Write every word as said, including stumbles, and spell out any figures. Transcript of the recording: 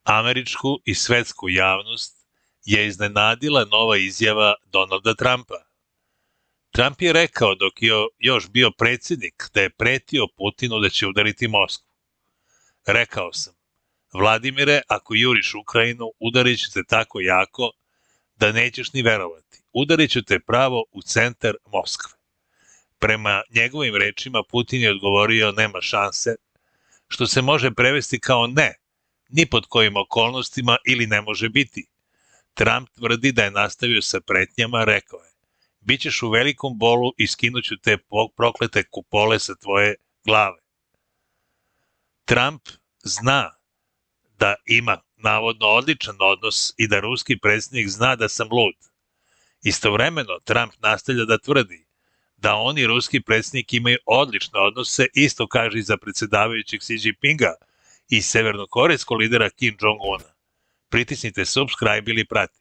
Američku i svetsku javnost je iznenadila nova izjava Donalda Trumpa. Trump je rekao dok je još bio predsjednik da je pretio Putinu da će udariti Moskvu. Rekao sam, Vladimire, ako juriš Ukrajinu, udarit ću te tako jako da nećeš ni verovati. Udarit ću te pravo u centar Moskve. Prema njegovim rečima Putin je odgovorio nema šanse, što se može prevesti kao ne, ni pod kojim okolnostima ili ne može biti. Trump tvrdi da je nastavio sa pretnjama, rekao je, bićeš u velikom bolu i skinuću te proklete kupole sa tvoje glave. Trump zna da ima navodno odličan odnos i da ruski predsjednik zna da sam lud. Istovremeno Trump nastavlja da tvrdi da on i ruski predsjednik imaju odlične odnose, isto kaže i za predsjedavajućeg Xi Jinpinga i severnokorejskog lidera Kim Jong-una. Pritisnite subscribe ili prati.